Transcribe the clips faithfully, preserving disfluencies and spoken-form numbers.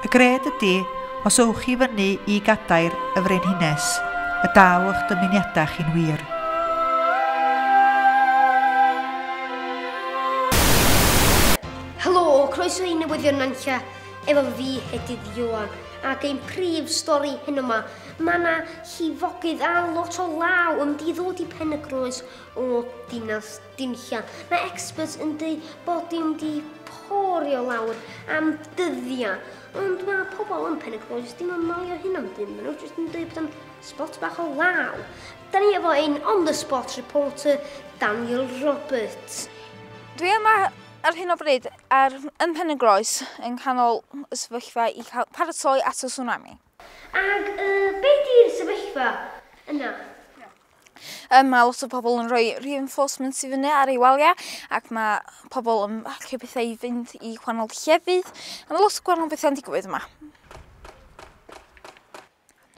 Y gred ydy, os ewch chi fyny i gadair y frenhines, y daw eich dymuniadau chi'n wir. Helo, croeso i Newyddion Nantlle, efo fi Hedydd Ioan, ac ein prif stori hyn yma, mae yna llifogydd a lot o law yn mynd i ddod i Pen-y-Groes o Dinas Dinlla. Mae experts yn dweud bod dim di porio lawr am dyddiau, ond mae pobl yn Pen-y-Groes ddim yn malio hyn am dim, maen nhw jyst yn dweud bod o'n spot bach o law. Da ni efo ein on-the-spot reporter Daniel Roberts. Dwi yma ar hyn o bryd ar, yn Pen-y-Groes yn canol y sefyllfa i cael paratoi at y tsunami. Ag uh, be di'r sefyllfa yna? Um, mae lot o pobl yn rhoi reinforcements i fyny ar ei waliau ac mae pobl yn hacio bethau i fynd i gwahanol llefydd. A mae lot o gwahanol bethau'n digwydd yma.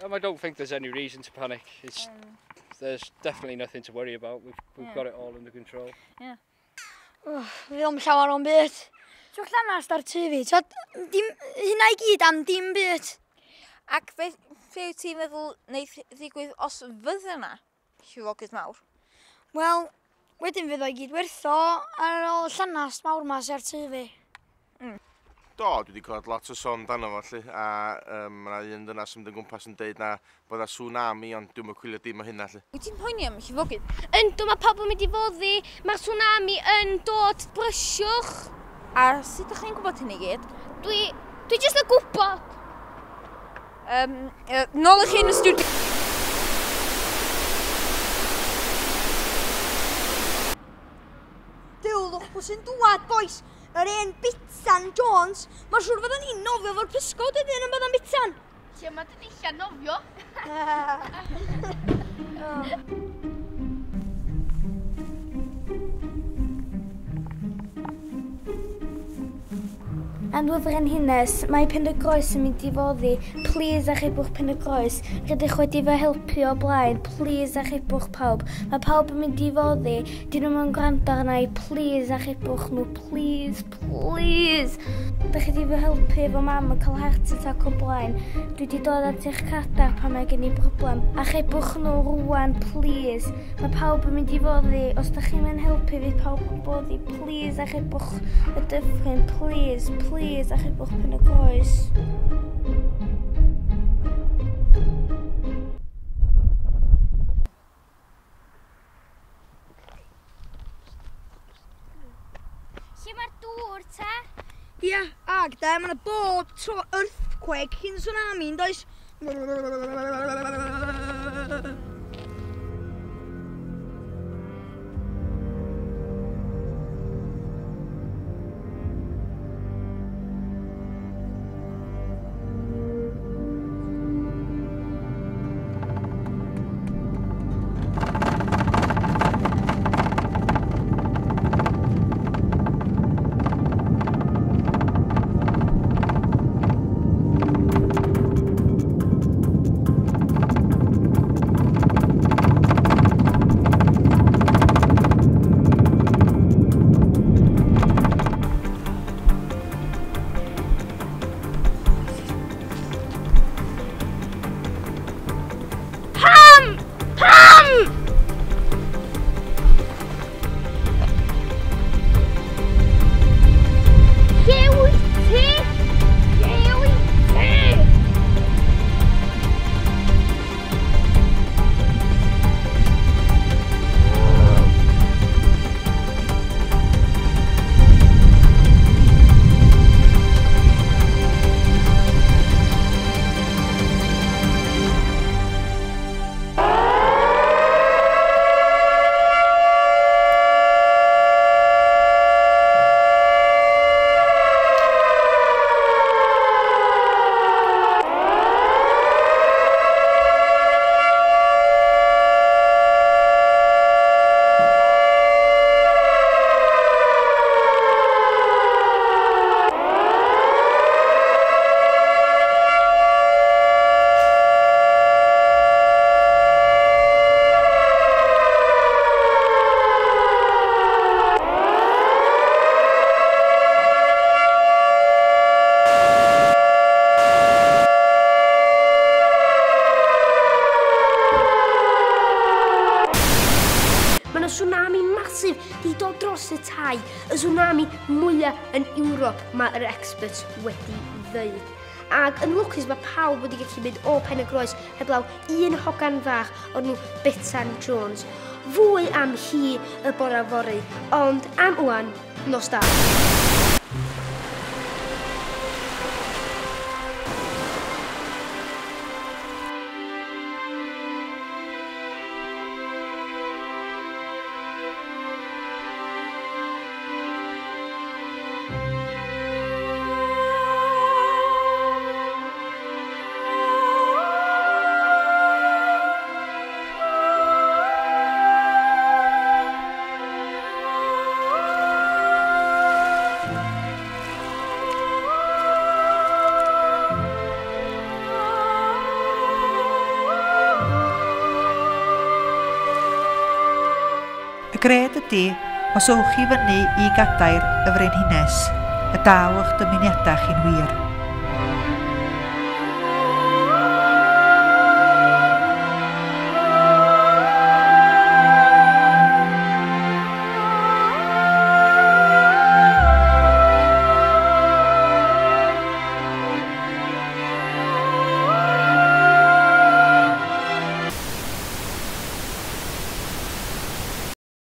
Um, I don't think there's any reason to panic. It's, mm. There's definitely nothing to worry about. We've, we've yeah. got it all under control. Yeah. Oh, fi ddim llawer o'n byd. Dwi'n llanast ar tŷ fi. So, dim, hynna i gyd am dim byd. Ac be, be wyt ti'n meddwl wneith ddigwydd os fydda yna llifogydd mawr? Wel, wedyn fydd o i gyd wertho ar ôl llanast mawr ma sy ar tŷ fi. Mm. Do, dwi wedi clywed lot o sôn amdano fo, lly, a um, mae yna un dynas yn mynd yn gwmpas yn deud na bod yna tsunami, ond dwi'm yn cwylio dim o hynna, lly. Wyt ti'n poeni am llifogydd? Yndw, mae pawb yn mynd i foddi, mae'r tsunami yn dod, brysiwch. A sut ydych chi'n gwybod hyn i gyd? Dwi, dwi jyst yn gwybod. Um, uh, nôl i chi yn y studio. Duw, lwch pwy sy'n dŵad, boys. Yr un Bitsan Jones, mae'n siŵr fyddan ni'n nofio fo'r pysgod wedyn yn bydda'n Bitsan. Lle mae dy ddillad nofio? Annwyl Frenhines, mae Pen-y-Groes yn mynd i foddi. Please achubwch Pen-y-Groes. Rydych wedi fy helpu o blaen. Please achubwch pawb. Mae pawb yn mynd i foddi. Dyn nhw'n yn gwrando arna i. Please achubwch nhw. Please, please. Dych chi wedi fy helpu efo mam yn cael heart attack o blaen. Dwi wedi dod at eich cadar pan mae gen i broblem. Achubwch nhw rwan, please. Mae pawb yn mynd i foddi. Os dych chi'n mynd helpu, fydd pawb yn boddi. Please achubwch y dyffryn. Please, please. Please, achubwch Pen-y-Groes. Lle mae'r dŵr, te? Ia, ag de, mae yna bob tro earthquake cyn tsunami, yn does? mudo dros y tai, y tsunami mwyaf yn Ewrop mae'r experts wedi ddeud. Ac yn lwcus mae pawb wedi gallu mynd o Pen y Groes heblaw un hogan fach o'r enw Betsan Jones. Fwy am hi y bore fory, ond am ŵan, nos da. Y gred ydy, os ewch chi fyny i gadair y Frenhines, y daw eich dymuniadau chi'n wir.